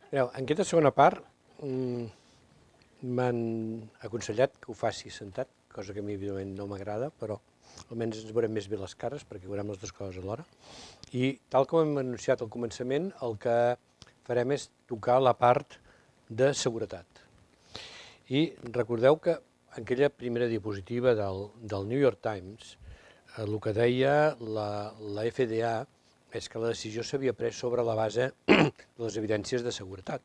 Mireu, en aquesta segona part m'han aconsellat que ho faci sentat, cosa que a mi evidentment no m'agrada, però almenys ens veurem més bé les cares perquè veurem les dues coses alhora. I tal com hem anunciat al començament, el que farem és tocar la part de seguretat. I recordeu que en aquella primera diapositiva del New York Times, el que deia la FDA és que la decisió s'havia pres sobre la base de les evidències de seguretat.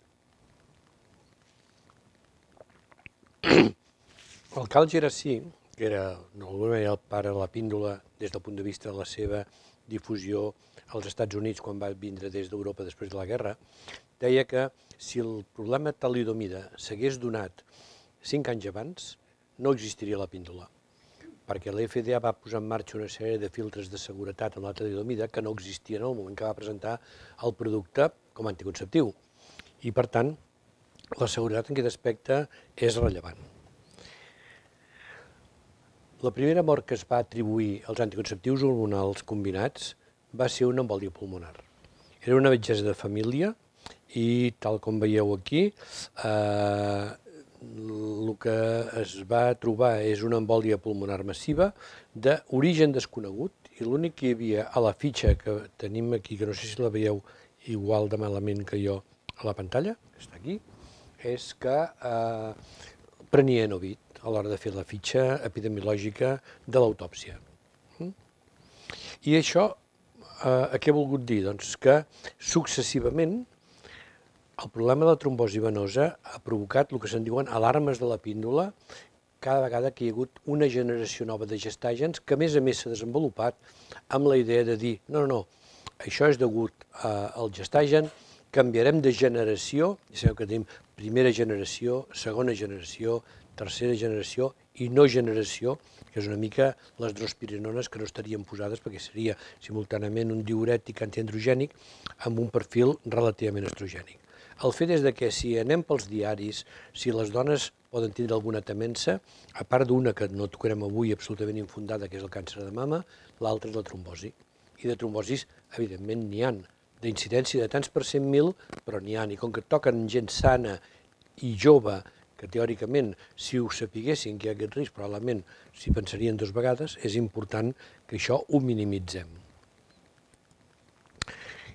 El Carl Geraci, que era d'alguna manera el pare de la píndola des del punt de vista de la seva difusió als Estats Units quan va vindre des d'Europa després de la guerra, deia que si el problema talidomida s'hagués donat 5 anys abans, no existiria la píndola, perquè la FDA va posar en marxa una sèrie de filtres de seguretat en la talidomida que no existien en el moment que va presentar el producte com a anticonceptiu. I, per tant, la seguretat en aquest aspecte és rellevant. La primera mort que es va atribuir als anticonceptius hormonals combinats va ser una embòlia pulmonar. Era una metgessa de família i, tal com veieu aquí, el que es va trobar és una embòlia pulmonar massiva d'origen desconegut i l'únic que hi havia a la fitxa que tenim aquí, que no sé si la veieu igual de malament que jo a la pantalla, que està aquí, és que prenia Enovit a l'hora de fer la fitxa epidemiològica de l'autòpsia. I això, què ha volgut dir? Doncs que successivament el problema de la trombosi venosa ha provocat el que se'n diuen alarmes de la píndola cada vegada que hi ha hagut una generació nova de gestàgens que a més s'ha desenvolupat amb la idea de dir no, això és degut al gestagen, canviarem de generació, ja sabeu que tenim primera generació, segona generació, tercera generació i no generació, que és una mica les drospirinones que no estarien posades perquè seria simultàniament un diürètic antiandrogènic amb un perfil relativament estrogènic. El fet és que si anem pels diaris, si les dones poden tindre alguna temença, a part d'una que no tocarem avui absolutament infundada, que és el càncer de mama, l'altra és la trombosi. I de trombosis, evidentment, n'hi ha. D'incidència de tants per 100.000, però n'hi ha. I com que toquen gent sana i jove, que teòricament, si ho sapiguessin que hi ha aquest risc, probablement s'hi pensarien 2 vegades, és important que això ho minimitzem.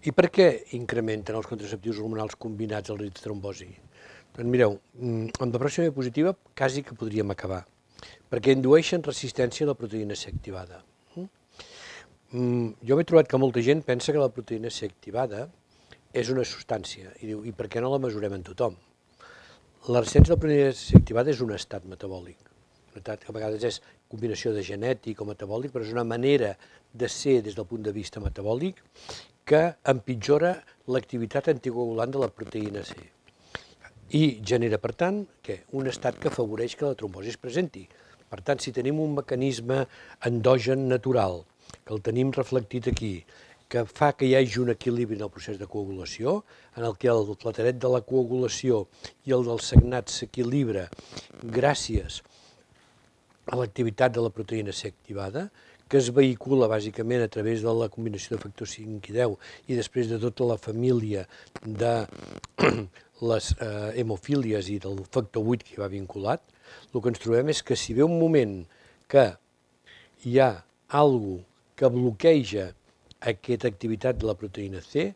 I per què incrementen els contraceptius hormonals combinats el risc de trombosi? Doncs mireu, amb la pròxima diapositiva quasi que podríem acabar, perquè indueixen resistència a la proteïna C activada. Jo m'he trobat que molta gent pensa que la proteïna C activada és una substància i diu, i per què no la mesurem en tothom? La resistència a la proteïna C activada és un estat metabòlic. Que a vegades és combinació de genètic o metabòlic, però és una manera de ser des del punt de vista metabòlic que empitjora l'activitat anticoagulant de la proteïna C. I genera, per tant, un estat que afavoreix que la trombosi es presenti. Per tant, si tenim un mecanisme endogen natural, que el tenim reflectit aquí, que fa que hi hagi un equilibri en el procés de coagulació, en el que el plateret de la coagulació i el del sagnat s'equilibra gràcies a l'activitat de la proteïna C activada, que es vehicula bàsicament a través de la combinació de factors 5 i 10 i després de tota la família de les hemofílies i del factor 8 que hi va vinculat, el que ens trobem és que si ve un moment que hi ha alguna cosa que bloqueja aquesta activitat de la proteïna C,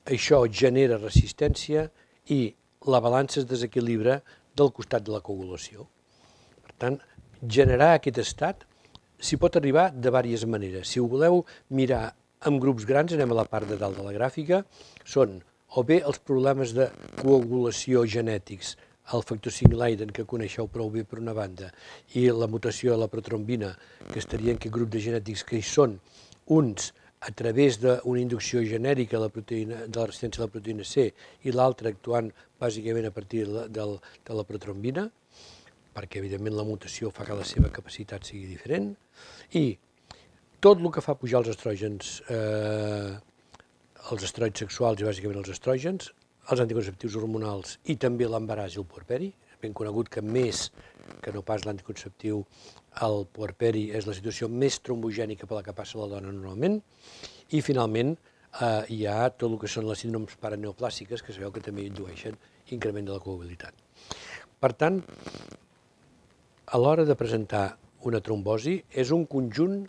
això genera resistència i la balança es desequilibra del costat de la coagulació. Per tant, generar aquest estat s'hi pot arribar de diverses maneres. Si ho voleu mirar en grups grans, anem a la part de dalt de la gràfica, són o bé els problemes de coagulació genètics, el factor 5 Leiden, que coneixeu prou bé per una banda, i la mutació de la protrombina, que estaria en aquest grup de genètics que hi són uns a través d'una inducció genèrica de la resistència a la proteïna C i l'altre actuant bàsicament a partir de la protrombina, perquè evidentment la mutació fa que la seva capacitat sigui diferent, i tot el que fa pujar els estrògens, els esteroids sexuals i bàsicament els estrògens, els anticonceptius hormonals i també l'embaràs i el puerperi, és ben conegut que més que no pas l'anticonceptiu, el puerperi és la situació més trombogènica per la que passa la dona normalment, i finalment hi ha tot el que són les síndromes paraneoplàstiques, que sabeu que també indueixen increment de la coagulabilitat. Per tant, a l'hora de presentar una trombosi és un conjunt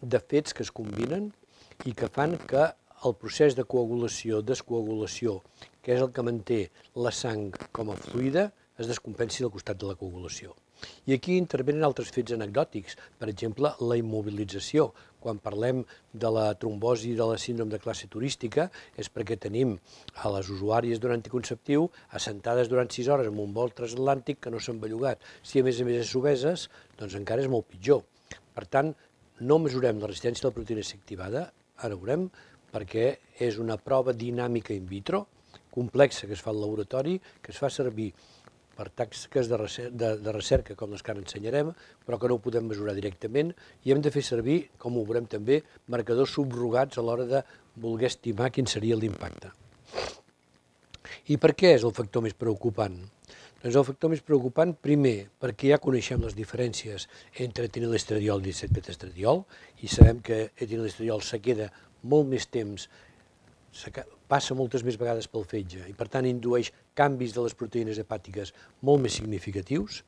de fets que es combinen i que fan que el procés de coagulació, descoagulació, que és el que manté la sang com a fluida, es descompensi del costat de la coagulació. I aquí intervenen altres fets anecdòtics, per exemple, la immobilització. Quan parlem de la trombosi de la síndrome de classe turística és perquè tenim a les usuàries d'un anticonceptiu assentades durant 6 hores en un vol transatlàntic que no s'han bellugat. Si a més és obeses, doncs encara és molt pitjor. Per tant, no mesurem la resistència de la proteïna C activada, ara veurem, perquè és una prova dinàmica in vitro, complexa, que es fa al laboratori, que es fa servir per tasques de recerca, com les que ara ensenyarem, però que no ho podem mesurar directament, i hem de fer servir, com ho veurem també, marcadors subrogats a l'hora de voler estimar quin seria l'impacte. I per què és el factor més preocupant? Doncs el factor més preocupant, primer, perquè ja coneixem les diferències entre etinilestradiol i 17-beta-estradiol, i sabem que etinilestradiol se queda molt més temps, passa moltes més vegades pel fetge i per tant indueix canvis de les proteïnes hepàtiques molt més significatius,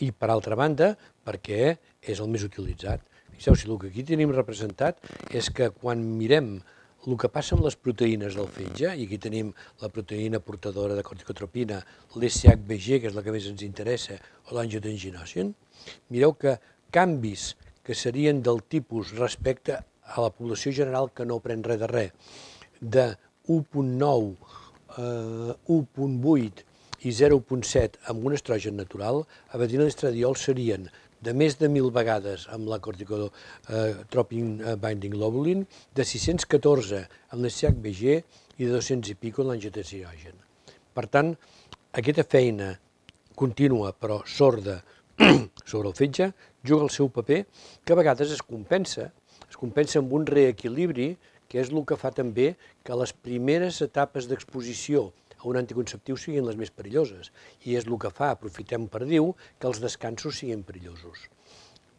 i per altra banda perquè és el més utilitzat. Fixeu, si el que aquí tenim representat és que quan mirem el que passa amb les proteïnes del fetge, i aquí tenim la proteïna portadora de corticotropina, l'SHBG, que és la que més ens interessa, o l'angiotensinogen, mireu que canvis que serien del tipus respecte a la població general que no pren res de res, de 1.9, 1.8 i 0.7 amb un estrogen natural, a etinilestradiol serien de més de 1.000 vegades amb la corticotropin binding globulin, de 614 amb l'SHBG i de 200 i pico amb l'angiotensinogen. Per tant, aquesta feina contínua però sorda sobre el fetge juga el seu paper, que a vegades es compensa amb un reequilibri, que és el que fa també que les primeres etapes d'exposició a un anticonceptiu siguin les més perilloses, i és el que fa, aprofitem per dir-ho, que els descansos siguin perillosos.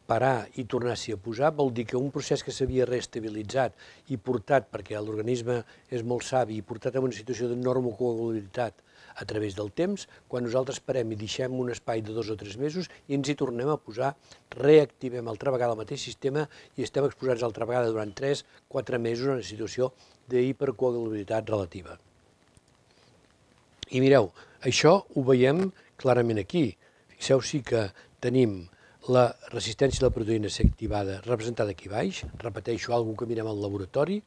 Parar i tornar-s'hi a posar vol dir que un procés que s'havia reestabilitzat i portat, perquè l'organisme és molt savi, i portat a una situació de normocoagulabilitat a través del temps, quan nosaltres parem i deixem un espai de 2 o 3 mesos i ens hi tornem a posar, reactivem altra vegada el mateix sistema i estem exposats altra vegada durant 3-4 mesos en una situació d'hipercoagulabilitat relativa. I mireu, això ho veiem clarament aquí. Fixeu, sí que tenim la resistència de la proteïna C activada representada aquí baix, repeteixo, alguna que mirem al laboratori,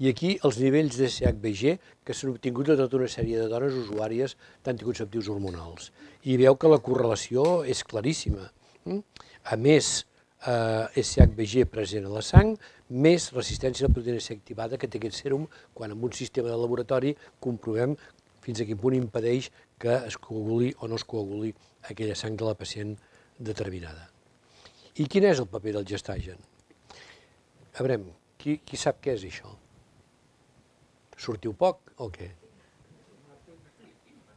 i aquí els nivells de SHBG que s'han obtingut de tota una sèrie de dones usuàries d'anticonceptius hormonals. I veieu que la correlació és claríssima. A més SHBG present a la sang, més resistència de la proteïna C activada que té aquest sèrum, quan amb un sistema de laboratori comprovem fins a quin punt impedeix que es coaguli o no es coaguli aquella sang de la pacient determinada. I quin és el paper del gestagen? A veure, qui sap què és això? Sortiu poc o què?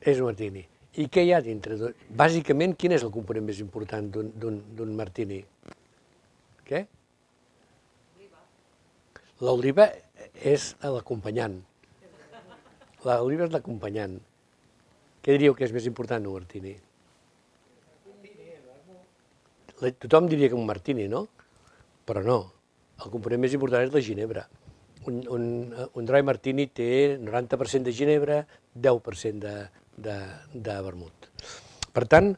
És un martini. I què hi ha dintre? Bàsicament, quin és el component més important d'un martini? Què? L'oliva és l'acompanyant. L'oliva és l'acompanyant. Què diríeu que és més important d'un martini? Tothom diria que un martini, no? Però no. El component més important és la ginebra. Un dry martini té 90% de ginebra, 10% de vermut. Per tant,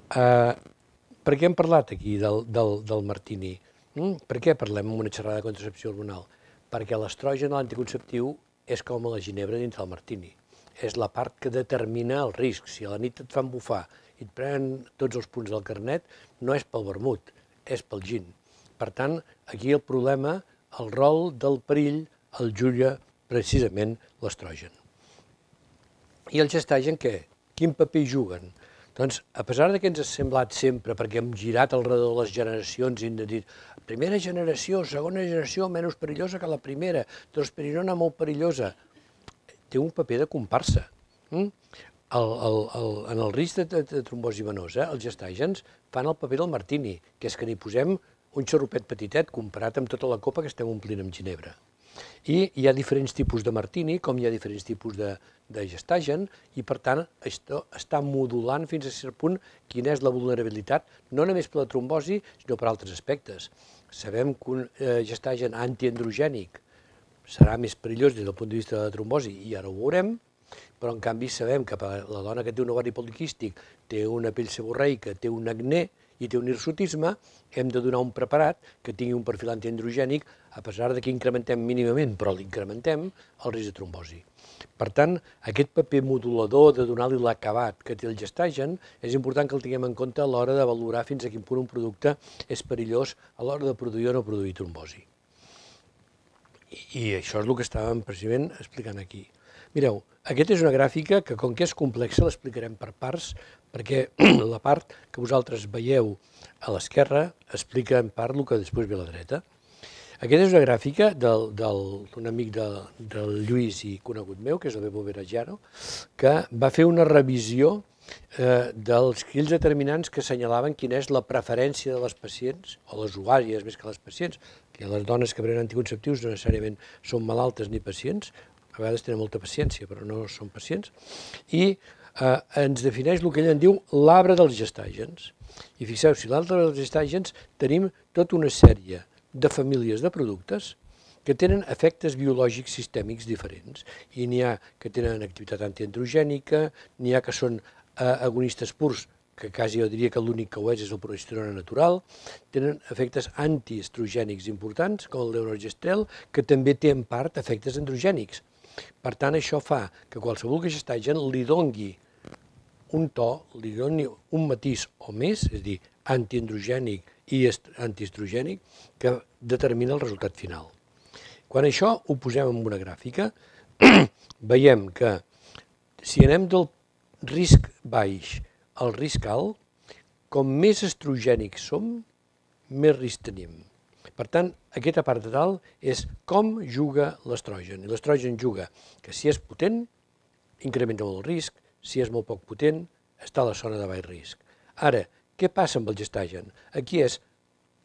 per què hem parlat aquí del martini? Per què parlem en una xerrada de contracepció hormonal? Perquè l'estrogen a l'anticonceptiu és com la ginebra dintre del martini. És la part que determina el risc. Si a la nit et fan bufar i et prenen tots els punts del carnet, no és pel vermut, és pel gin. Per tant, aquí el problema, el rol del perill, el juga precisament l'estrogen. I el gestagen què? Quin paper hi juguen? Doncs, a pesar que ens ha semblat sempre, perquè hem girat al redor de les generacions i hem dit primera generació, segona generació, menys perillosa que la primera, drosperinona molt perillosa, té un paper de comparsa. En el risc de trombosi venosa, els gestàgens fan el paper del martini, que és que n'hi posem un xarrupet petitet comparat amb tota la copa que estem omplint amb ginebra. I hi ha diferents tipus de martini, com hi ha diferents tipus de gestagen, i per tant això està modulant fins a cert punt quina és la vulnerabilitat, no només per la trombosi, sinó per altres aspectes. Sabem que un gestagen antiandrogènic serà més perillós des del punt de vista de la trombosi, i ara ho veurem, però en canvi sabem que la dona que té un ovari poliquístic, té una pell seborreica, té un acné i té un hirsutisme, hem de donar un preparat que tingui un perfil antiandrogènic, a pesar que incrementem mínimament, però l'incrementem, el risc de trombosi. Per tant, aquest paper modulador de donar-li l'acabat que té el gestagen és important que el tinguem en compte a l'hora de valorar fins a quin punt un producte és perillós a l'hora de produir o no produir trombosi. I això és el que estàvem precisament explicant aquí. Mireu, aquesta és una gràfica que, com que és complexa, l'explicarem per parts, perquè la part que vosaltres veieu a l'esquerra explica en part el que després ve a la dreta. Aquesta és una gràfica d'un amic del Lluís i conegut meu, que és el Bebo Verajano, que va fer una revisió dels quins determinants que assenyalaven quina és la preferència de les pacients, o les usuàries més que les pacients, que les dones que prenen anticonceptius no necessàriament són malaltes ni pacients, a vegades tenen molta paciència però no són pacients, i ens defineix el que ell en diu l'arbre dels gestàgens. I fixeu, si l'arbre dels gestàgens tenim tota una sèrie de famílies de productes que tenen efectes biològics sistèmics diferents. I n'hi ha que tenen activitat antiandrogènica, n'hi ha que són agonistes purs, que quasi jo diria que l'únic que ho és el progesterona natural, tenen efectes antiestrogènics importants, com el levonorgestrel, que també té en part efectes androgènics. Per tant, això fa que qualsevol gestagen li doni un to, li doni un matís o més, és a dir, antiandrogènic i antiestrogènic, que determina el resultat final. Quan això ho posem en una gràfica, veiem que si anem del risc baix al risc alt, com més estrogènics som, més risc tenim. Per tant, aquesta part de dalt és com juga l'estrogen. I l'estrogen juga que si és potent, incrementa molt el risc, si és molt poc potent, està a la zona de baix risc. Ara, què passa amb el gestagen? Aquí és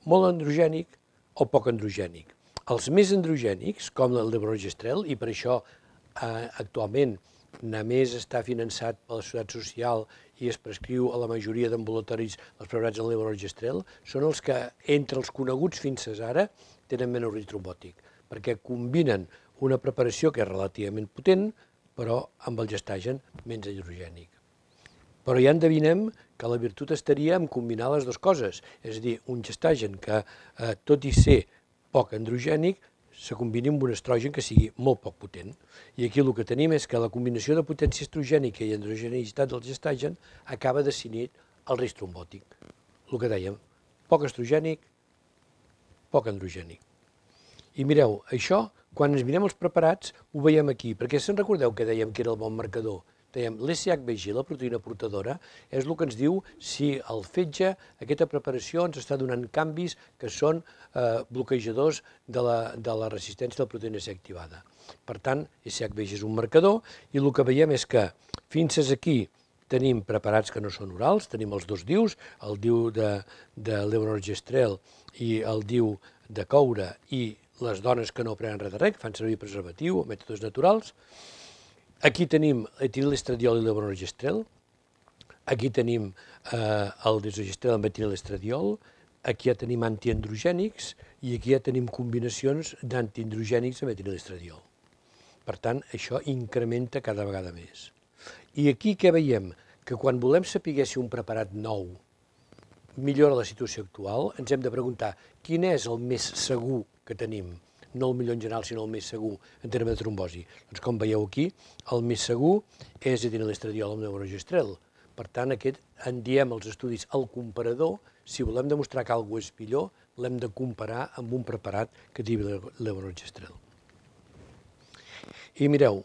molt androgènic o poc androgènic. Els més androgènics, com el levonorgestrel, i per això actualment només està finançat per la Societat Social i es prescriu a la majoria d'ambulatoris els preparats en levonorgestrel, són els que, entre els coneguts fins ara, tenen menys risc trombòtic, perquè combinen una preparació que és relativament potent, però amb el gestagen menys androgènic. Però ja endevinem que la virtut estaria en combinar les dues coses, és a dir, un gestagen que, tot i ser poc androgènic, se combini amb un estrogen que sigui molt poc potent. I aquí el que tenim és que la combinació de potència estrogènica i androgenicitat del gestagen acaba definint el risc trombòtic. El que dèiem, poc estrogènic, poc androgènic. I mireu, això, quan ens mirem els preparats, ho veiem aquí, perquè se'n recordeu que dèiem que era el bon marcador? Dèiem, l'SHBG, la proteïna portadora, és el que ens diu si el fetge, aquesta preparació, ens està donant canvis que són bloquejadors de la resistència de la proteïna C activada. Per tant, SHBG és un marcador i el que veiem és que fins aquí tenim preparats que no són orals, tenim els dos DIUs, el DIU de levonorgestrel i el DIU de coure i les dones que no prenen res de res, que fan servir preservatiu o mètodes naturals. Aquí tenim etinilestradiol i levonorgestrel, aquí tenim el desogestrel amb etinilestradiol, aquí ja tenim antiandrogènics i aquí ja tenim combinacions d'antiandrogènics amb etinilestradiol. Per tant, això incrementa cada vegada més. I aquí què veiem? Que quan volem saber si un preparat nou millora la situació actual, ens hem de preguntar quin és el més segur que tenim, no el millor en general, sinó el més segur en termes de trombosi. Doncs com veieu aquí, el més segur és etinilestradiol amb levonorgestrel. Per tant, aquest en diem els estudis el comparador. Si volem demostrar que alguna cosa és millor, l'hem de comparar amb un preparat que tingui levonorgestrel. I mireu,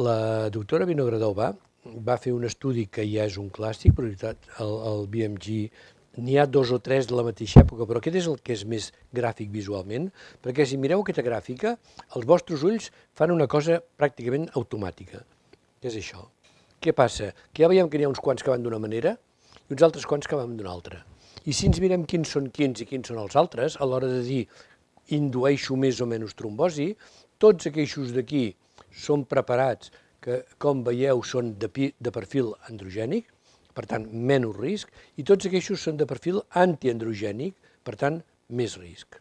la doctora Vinogradova va fer un estudi que ja és un clàssic, el BMG. N'hi ha dos o tres de la mateixa època, però aquest és el que és més gràfic visualment, perquè si mireu aquesta gràfica, els vostres ulls fan una cosa pràcticament automàtica, que és això. Què passa? Que ja veiem que n'hi ha uns quants que van d'una manera i uns altres quants que van d'una altra. I si ens mirem quins són quins i quins són els altres, a l'hora de dir indueixo més o menys trombosi. Tots aquests d'aquí són preparats que, com veieu, són de perfil androgènic, per tant, menys risc, i tots aquests són de perfil antiandrogènic, per tant, més risc.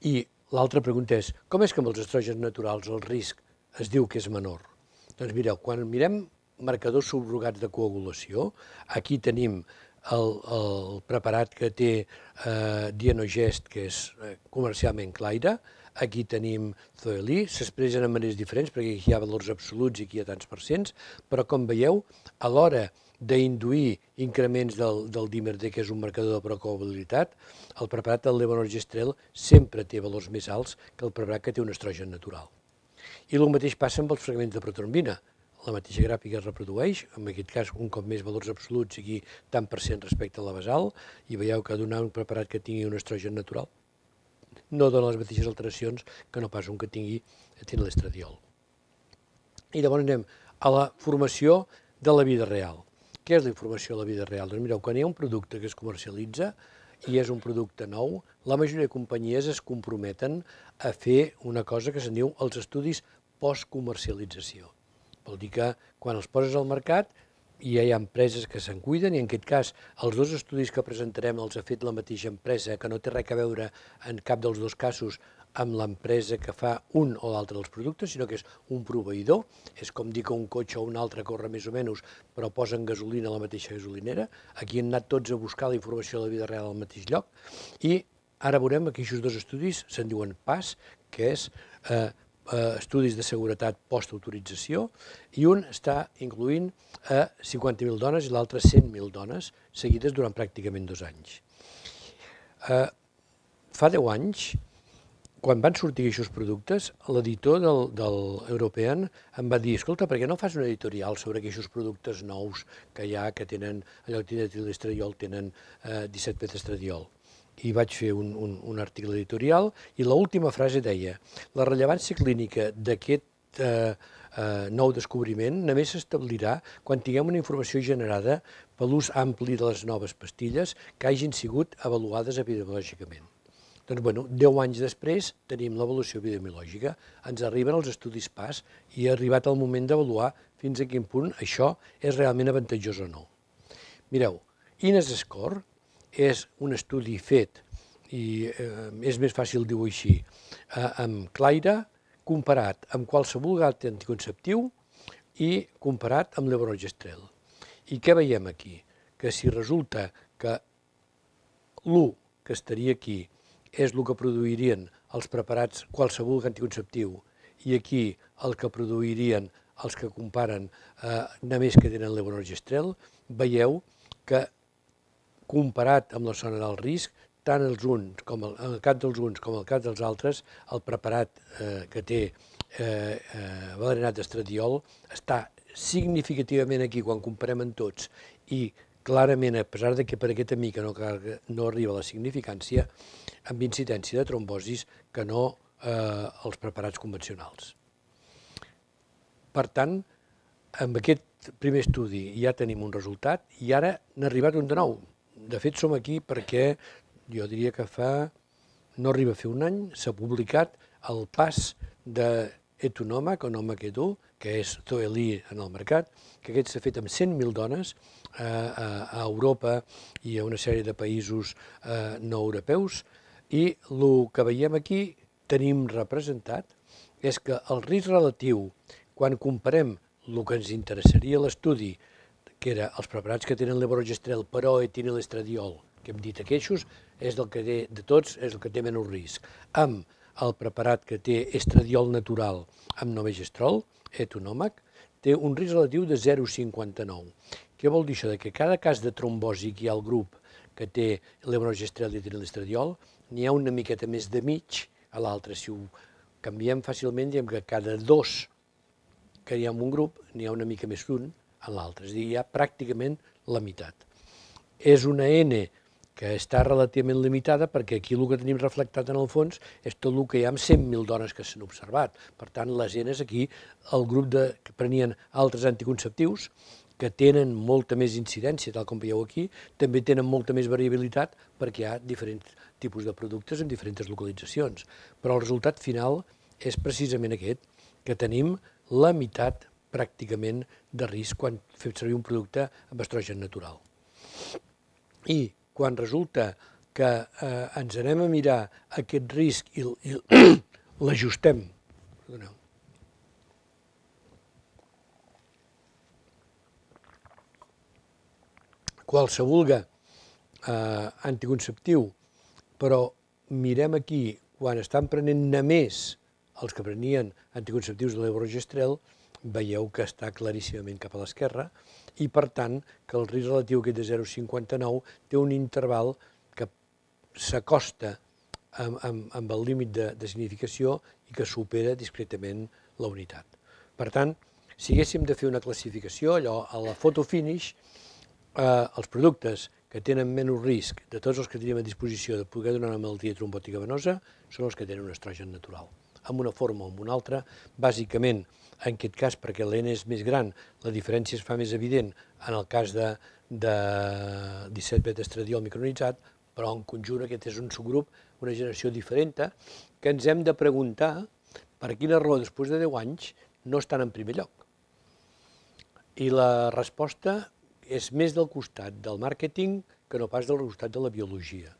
I l'altra pregunta és, com és que amb els estrògens naturals el risc es diu que és menor? Doncs mireu, quan mirem marcadors subrogats de coagulació, aquí tenim el preparat que té Dienogest, que és comercialment Claira, aquí tenim Zoeli, s'expressen de maneres diferents perquè aquí hi ha valors absoluts i aquí hi ha tants percents, però com veieu, a l'hora d'induir increments del dímer D, que és un marcador de procoagulabilitat, el preparat del levonorgestrel sempre té valors més alts que el preparat que té un estrogen natural. I el mateix passa amb els fragments de protrombina. La mateixa gràfica es reprodueix, en aquest cas un cop més valors absoluts, aquí tant % respecte a la basal, i veieu que donar un preparat que tingui un estrogen natural no dona les mateixes alteracions que no pas un que tingui etinilestradiol. I llavors anem a la formació de la vida real. Què és la informació de la vida real? Doncs mireu, quan hi ha un producte que es comercialitza i és un producte nou, la majoria de companyies es comprometen a fer una cosa que se'n diu els estudis post-comercialització. Vol dir que quan els poses al mercat ja hi ha empreses que se'n cuiden i en aquest cas els dos estudis que presentarem els ha fet la mateixa empresa, que no té res a veure en cap dels dos casos amb l'empresa que fa un o l'altre dels productes, sinó que és un proveïdor. És com dir que un cotxe o un altre corre més o menys, però posen gasolina a la mateixa gasolinera. Aquí han anat tots a buscar la informació de la vida real al mateix lloc i ara veurem que aquests dos estudis se'n diuen PAS, que és estudis de seguretat post-autorització, i un està incloent a 50.000 dones i l'altre 100.000 dones, seguides durant pràcticament 2 anys. Fa 10 anys, quan van sortir aquests productes, l'editor del European em va dir, escolta, per què no fas un editorial sobre aquests productes nous que hi ha, que tenen, allò que tenen etinilestradiol, tenen 17-beta-estradiol? I vaig fer un article editorial i l'última frase deia la rellevància clínica d'aquest nou descobriment només s'establirà quan tinguem una informació generada per l'ús ampli de les noves pastilles que hagin sigut avaluades epidemiològicament. Doncs, bueno, 10 anys després tenim l'avaluació epidemiològica, ens arriben els estudis PAS i ha arribat el moment d'avaluar fins a quin punt això és realment avantatjós o no. Mireu, INES-SCORE és un estudi fet, i és més fàcil dir-ho així, amb Claira, comparat amb qualsevol gat anticonceptiu i comparat amb levonorgestrel. I què veiem aquí? Que si resulta que l'1 que estaria aquí és el que produirien els preparats qualsevol anticonceptiu i aquí el que produirien els que comparen només que tenen levonorgestrel, veieu que comparat amb la zona del risc, tant el cas dels uns com el cas dels altres, el preparat que té valerinat d'estradiol està significativament aquí quan comparem amb tots i clarament, a pesar que per aquesta mica no arriba a la significància, amb incidència de trombosis que no els preparats convencionals. Per tant, amb aquest primer estudi ja tenim un resultat i ara n'ha arribat un de nou. De fet, som aquí perquè jo diria que no arriba a fer un any, s'ha publicat el PAS d'Etunomac, o Nomac Etu, que és Zoeli en el mercat, que aquest s'ha fet amb 100.000 dones a Europa i a una sèrie de països no europeus, i el que veiem aquí, tenim representat, és que el risc relatiu, quan comparem el que ens interessaria a l'estudi, que era els preparats que tenen levonorgestrel però etinilestradiol, que hem dit aquests, és del que té de tots, és el que té menys risc, amb el preparat que té estradiol natural amb novegestrol, Etunomac, té un risc relatiu de 0,59. Què vol dir això? Que cada cas de trombosi que hi ha al grup que té levonorgestrel i etinilestradiol, n'hi ha una miqueta més de mig a l'altre. Si ho canviem fàcilment, diem que cada 2 que hi ha en un grup, n'hi ha una mica més d'un en l'altre, és a dir, hi ha pràcticament la meitat. És una N que està relativament limitada perquè aquí el que tenim reflectat en el fons és tot el que hi ha amb 100.000 dones que s'han observat. Per tant, les Ns aquí, el grup que prenien altres anticonceptius que tenen molta més incidència, tal com veieu aquí, també tenen molta més variabilitat perquè hi ha diferents tipus de productes en diferents localitzacions. Però el resultat final és precisament aquest, que tenim la meitat pràcticament de risc quan fem servir un producte amb estrogen natural. I quan resulta que ens anem a mirar aquest risc i l'ajustem, qualsevol anticonceptiu, però mirem aquí, quan estan prenent només els que prenien anticonceptius de levonorgestrel, veieu que està claríssimament cap a l'esquerra i, per tant, que el risc relatiu aquest de 0,59 té un interval que s'acosta amb el límit de significació i que supera discretament la unitat. Per tant, si haguéssim de fer una classificació, allò a la photo finish, els productes que tenen menys risc de tots els que tenim a disposició de poder donar una malaltia trombòtica venosa són els que tenen un estrogen natural. Amb una forma o amb una altra, bàsicament, en aquest cas, perquè l'N és més gran, la diferència es fa més evident en el cas de 17-beta-estradiol micrononitzat, però en conjunt aquest és un subgrup, una generació diferent, que ens hem de preguntar per quina raó després de 10 anys no estan en primer lloc. I la resposta és més del costat del màrqueting que no pas del costat de la biologia.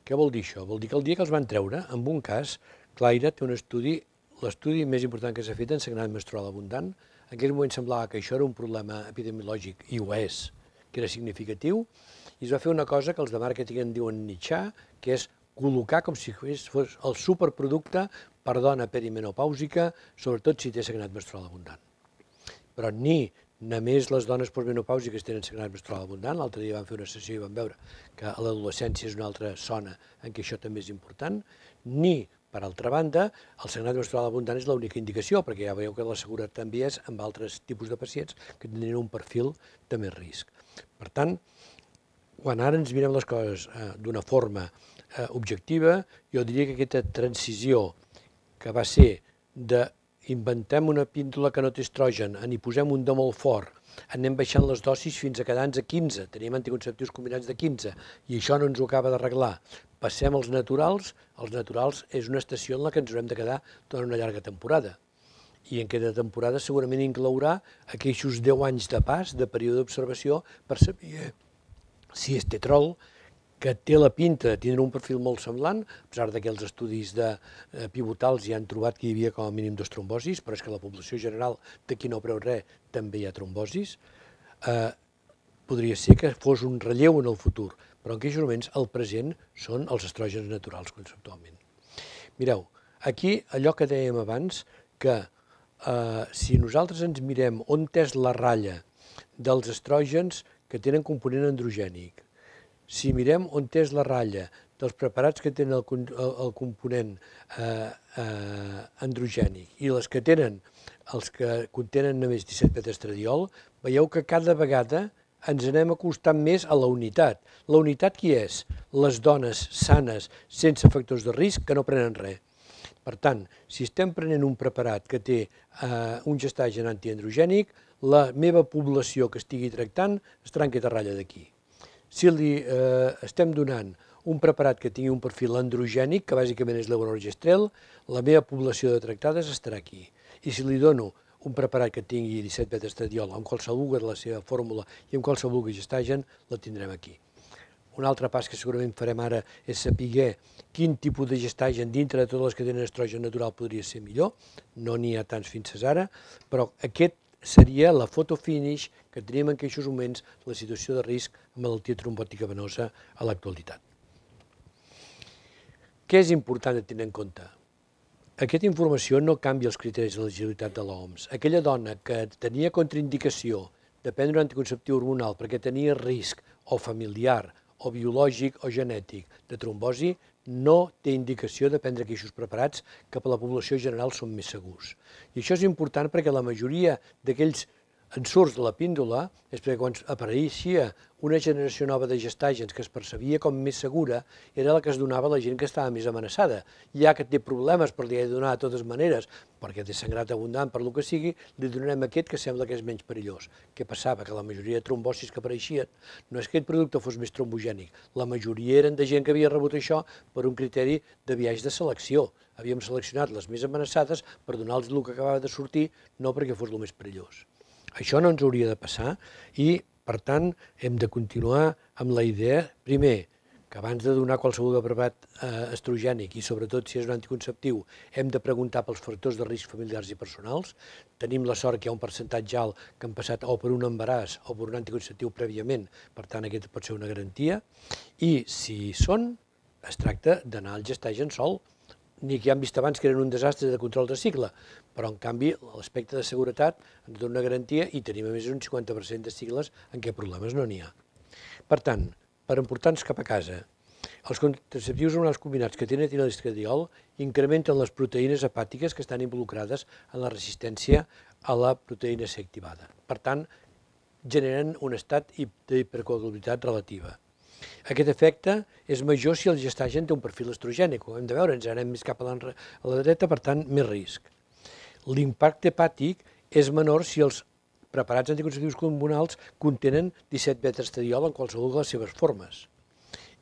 Què vol dir això? Vol dir que el dia que els van treure, en un cas, Claire té un estudi, l'estudi més important que s'ha fet en sagnat menstrual abundant. En aquell moment semblava que això era un problema epidemiològic, i ho és, que era significatiu, i es va fer una cosa que els de màrqueting en diuen nichar, que és col·locar com si fos el superproducte per dona perimenopàusica, sobretot si té sagnat menstrual abundant. Però ni només les dones postmenopàusiques tenen sagnat menstrual abundant, l'altre dia vam fer una sessió i vam veure que a l'adolescència és una altra zona en què això també és important, ni, per altra banda, el sagnat menstrual abundant és l'única indicació, perquè ja veieu que la seguretat també és amb altres tipus de pacients que tindrien un perfil de més risc. Per tant, quan ara ens mirem les coses d'una forma objectiva, jo diria que aquesta transició que va ser d'inventem una píndola que no té estrogen, n'hi posem un de molt fort, anem baixant les dosis fins a quedar-nos a 15, tenim anticonceptius combinats de 15, i això no ens ho acaba d'arreglar. Passem als naturals és una estació en la que ens haurem de quedar durant una llarga temporada. I en aquesta temporada segurament inclourà aquells 10 anys de pas, de període d'observació, per saber si és tetrol, que té la pinta de tindre un perfil molt semblant, a pesar que els estudis pivotals ja han trobat que hi havia com a mínim 2 trombosis, però és que la població general de qui no preu res també hi ha trombosis. Podria ser que fos un relleu en el futur, però en aquells moments el present són els estrògens naturals conceptualment. Mireu, aquí allò que dèiem abans, que si nosaltres ens mirem on és la ratlla dels estrògens que tenen component androgènic, si mirem on és la ratlla dels preparats que tenen el component androgènic i les que tenen els que contenen només 17-beta-estradiol, veieu que cada vegada ens anem acostant més a la unitat. La unitat qui és? Les dones sanes, sense factors de risc, que no prenen res. Per tant, si estem prenent un preparat que té un gestagen antiandrogènic, la meva població que estigui tractant estarà en aquesta ratlla d'aquí. Si li estem donant un preparat que tingui un perfil androgènic, que bàsicament és levonorgestrel, la meva població de tractades estarà aquí. I si li dono un preparat que tingui 17-beta-estradiol amb qualsevol de la seva fórmula i amb qualsevol gestagen, la tindrem aquí. Un altre pas que segurament farem ara és saber quin tipus de gestagen dintre de totes les que tenen estrogen natural podria ser millor. No n'hi ha tants fins ara, però aquest seria la photo finish que tenim en aquests moments la situació de risc amb malaltia trombòtica venosa a l'actualitat. Què és important de tenir en compte? Aquesta informació no canvia els criteris d'elegibilitat de l'OMS. Aquella dona que tenia contraindicació de prendre un anticonceptiu hormonal perquè tenia risc o familiar o biològic o genètic de trombosi no té indicació de prendre aquests preparats que per la població general són més segurs. I això és important perquè la majoria d'aquells en surts de la píndola és perquè quan apareixia una generació nova de gestàgens que es percebia com més segura era la que es donava a la gent que estava més amenaçada. Ja que té problemes per li donar de totes maneres, perquè té sangrat abundant per lo que sigui, li donarem aquest que sembla que és menys perillós. Què passava? Que la majoria de trombosis que apareixien no és que aquest producte fos més trombogènic, la majoria eren de gent que havia rebut això per un criteri de viatge de selecció. Havíem seleccionat les més amenaçades per donar-los el que acabava de sortir, no perquè fos el més perillós. Això no ens hauria de passar i, per tant, hem de continuar amb la idea, primer, que abans de donar qualsevol preparat estrogènic i sobretot si és un anticonceptiu, hem de preguntar pels factors de risc familiars i personals. Tenim la sort que hi ha un percentatge alt que han passat o per un embaràs o per un anticonceptiu prèviament, per tant, aquest pot ser una garantia. I si són, es tracta d'anar al gestagen sol, ni que ja hem vist abans que eren un desastre de control de cicle, però en canvi l'aspecte de seguretat ens dona una garantia i tenim a més un 50% de cicles en què problemes no n'hi ha. Per tant, per emportar-nos cap a casa, els contraceptius hormonals combinats que tenen etinoestradiol incrementen les proteïnes hepàtiques que estan involucrades en la resistència a la proteïna C activada. Per tant, generen un estat d'hipercoagulabilitat relativa. Aquest efecte és major si el gestagen té un perfil estrogènic, ho hem de veure, ens anem més cap a la dreta, per tant, més risc. L'impacte hepàtic és menor si els preparats anticonceptius hormonals contenen 17-beta-estradiol en qualsevol de les seves formes.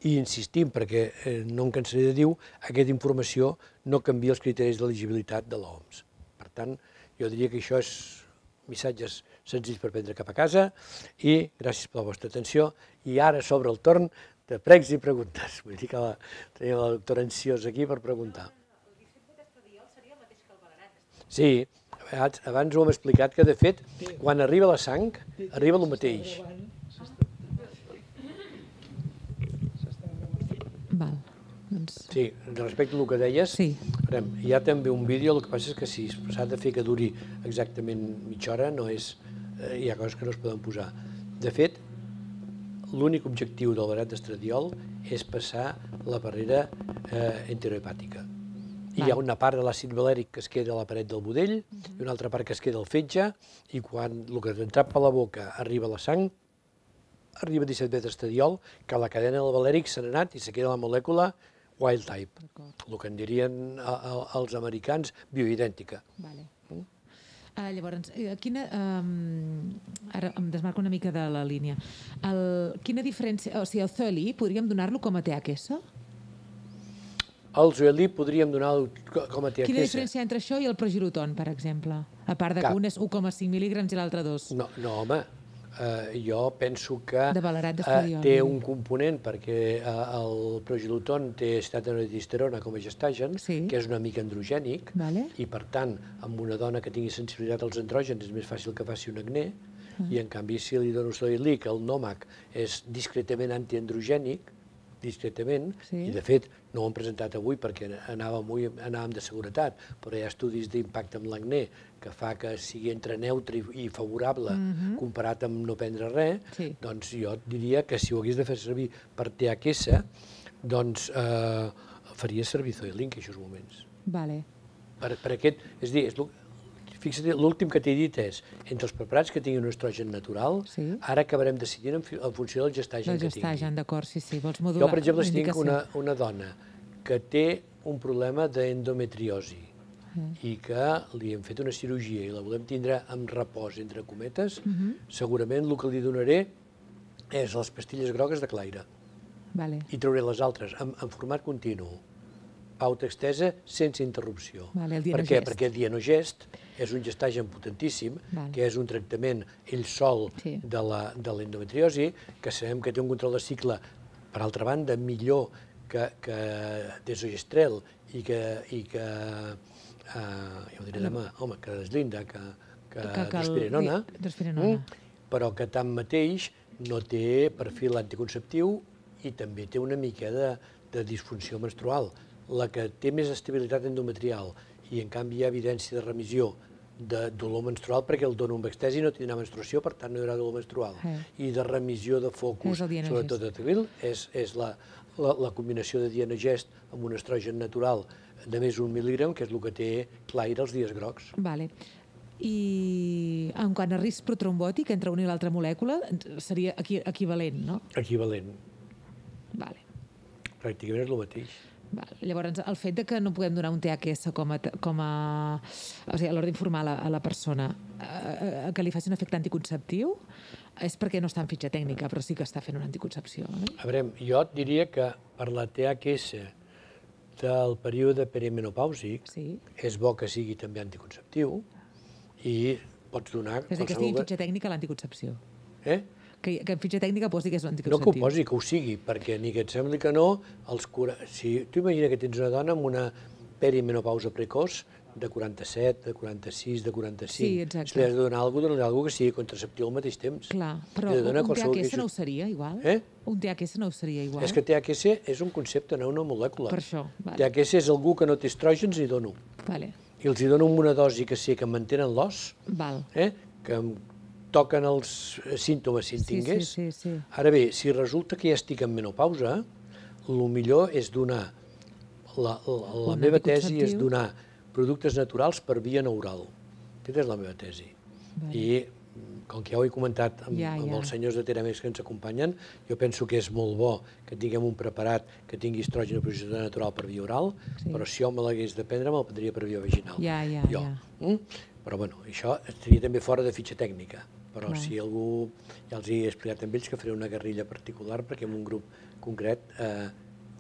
I insistim, perquè no em cansaré de dir, aquesta informació no canvia els criteris d'elegibilitat de l'OMS. Per tant, jo diria que això és missatges senzills per prendre cap a casa i gràcies per la vostra atenció. I ara s'obre el torn de pregs i preguntes. Vull dir que tenim la doctora ansiosa aquí per preguntar. El 17-beta-estradiol seria el mateix que el Valerat? Sí, abans ho hem explicat que de fet quan arriba la sang arriba el mateix. Val. Sí, respecte al que deies, hi ha també un vídeo, el que passa és que si s'ha de fer que duri exactament mitja hora, hi ha coses que no es poden posar. De fet, l'únic objectiu del barat d'estradiol és passar la barrera enterohepàtica. Hi ha una part de l'àcid valèric que es queda a la paret del budell i una altra part que es queda al fetge i quan el que ha entrat per la boca arriba a la sang, arriba 17-beta-estradiol, que la cadena del valèric s'ha anat i se queda la molècula wild type, el que en dirien els americans bioidèntica. Llavors, ara em desmarco una mica de la línia. Quina diferència, o sigui, el Zoeli podríem donar-lo com a THS? El Zoeli podríem donar-lo com a THS. Quina diferència entre això i el progiroton, per exemple? A part de que un és 1,5 mil·lígrams i l'altre 2. No, home. Jo penso que té un component perquè el progiloton té estatinotestosterona com a gestagen, que és una mica androgènic, i per tant, amb una dona que tingui sensibilitat als andrògens és més fàcil que faci un acné, i en canvi si li dono Zoeli, que el NOMAC és discretament antiandrogènic, discretament, i de fet no ho hem presentat avui perquè anàvem de seguretat, però hi ha estudis d'impacte amb l'acné que fa que sigui entre neutre i favorable comparat amb no prendre res, doncs jo diria que si ho hagués de fer servir per THS, doncs faria servir Zoeli en aquests moments. Per aquest, és a dir, fixa't, l'últim que t'he dit és, entre els preparats que tinguin un estrogen natural, ara acabarem decidint en funció del gestagen que tingui. Del gestagen, d'acord, sí, vols modular. Jo, per exemple, si tinc una dona que té un problema d'endometriosi i que li hem fet una cirurgia i la volem tindre amb repòs, entre cometes, segurament el que li donaré és les pastilles grogues de Claire. I trauré les altres en format continu. Pauta extesa sense interrupció. Per què? Perquè el Dienogest és un gestagen potentíssim, que és un tractament ell sol de l'endometriosi, que sabem que té un control de cicle, per altra banda, millor que desogestrel i que, ja ho diré demà, home, que deslinda, que drospirenona, però que tanmateix no té perfil anticonceptiu i també té una mica de disfunció menstrual. La que té més estabilitat endometrial i en canvi hi ha evidència de remissió de dolor menstrual perquè el dono amb estesi no tindrà menstruació, per tant no hi haurà dolor menstrual. I de remissió de focus, sobretot de Tevil, és la combinació de Dienogest amb un estrogen natural de més d'un mil·lígram, que és el que té Claire els dies grocs. I en quant a risc protrombòtic entre una i l'altra molècula, seria equivalent, no? Equivalent. Vale. Pràcticament és el mateix. Llavors, el fet de que no podem donar un THS o sigui, a l'hora d'informar a la persona que li faci un efecte anticonceptiu és perquè no està en fitxa tècnica, però sí que està fent una anticoncepció. A veure, jo et diria que per la THS del període perimenopàusic és bo que sigui també anticonceptiu i pots donar... És a dir, que estigui en fitxa tècnica l'anticoncepció. Que en fitxa tècnica posi que és l'anticonceptiu. No que ho posi, que ho sigui, perquè ni que et sembli que no, si tu imagina que tens una dona amb una perimenopausa precoç de 47, de 46, de 45, si li has de donar alguna cosa, dona-li que sigui contraceptiu al mateix temps. Clar, però un THS no ho seria igual? Un THS no ho seria igual? És que THS és un concepte, no una molècula. Per això. THS és algú que no té estrògens i dono. I els hi dono una dosi que sí que mantenen l'os, que toquen els símptomes si en tingués. Ara bé, si resulta que ja estic en menopausa, el millor és donar, la meva tesi és donar productes naturals per via neural. Aquesta és la meva tesi. I, com que ja ho he comentat amb els senyors de Teramex que ens acompanyen, jo penso que és molt bo que tinguem un preparat que tingui estrògen i progesterola natural per via oral, però si jo me l'hagués de prendre, me'l prendria per via vaginal. Però, bueno, això estaria també fora de fitxa tècnica. Però si algú, ja els he explicat amb ells que faré una guerrilla particular perquè en un grup concret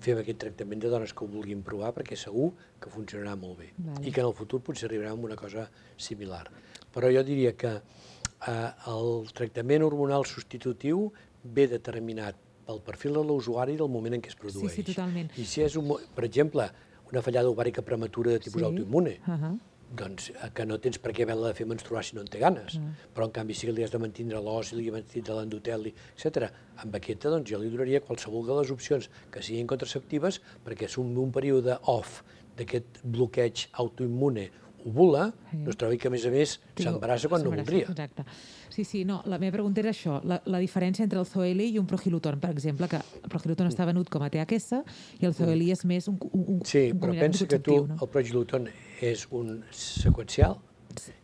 fem aquest tractament de dones que ho vulguin provar perquè segur que funcionarà molt bé i que en el futur potser arribarà a una cosa similar. Però jo diria que el tractament hormonal substitutiu ve determinat pel perfil de l'usuari del moment en què es produeix. Sí, totalment. I si és, per exemple, una fallada ovàrica prematura de tipus autoimmune, doncs que no tens per què haver-la de fer menstruar si no en té ganes, però en canvi si li has de mantindre l'os, si li has de mantindre l'endoteli, etc. Amb aquesta doncs jo li donaria qualsevol de les opcions que siguin contraceptives perquè és un període off d'aquest bloqueig autoimmune ovula, no es trobi que a més s'embarassa quan no voldria. Exacte. Sí, no, la meva pregunta era això, la diferència entre el Zoeli i un Prohiluton, per exemple, que el Prohiluton està venut com a THS i el Zoeli és més un Sí, però pensa que tu, el Prohiluton és un seqüencial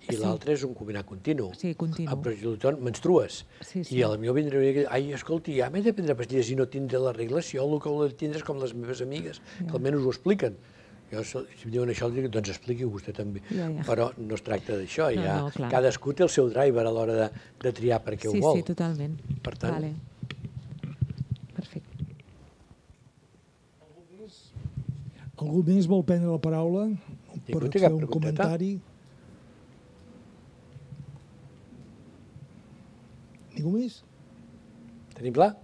i l'altre és un combinat continu. Sí, continu. El Prohiluton menstrues i potser vindrà i dir, ai, escolti, ja m'he de prendre pastilles i no tindré la regla, si jo el que ho tindré és com les meves amigues, que almenys ho expliquen. Jo, si em diuen això, doncs expliqui vostè també. Però no es tracta d'això. Cadascú té el seu driver a l'hora de triar per què ho vol. Sí, totalment. Per tant... Perfecte. Algú més vol prendre la paraula per fer un comentari? Ningú més? Tenim clar?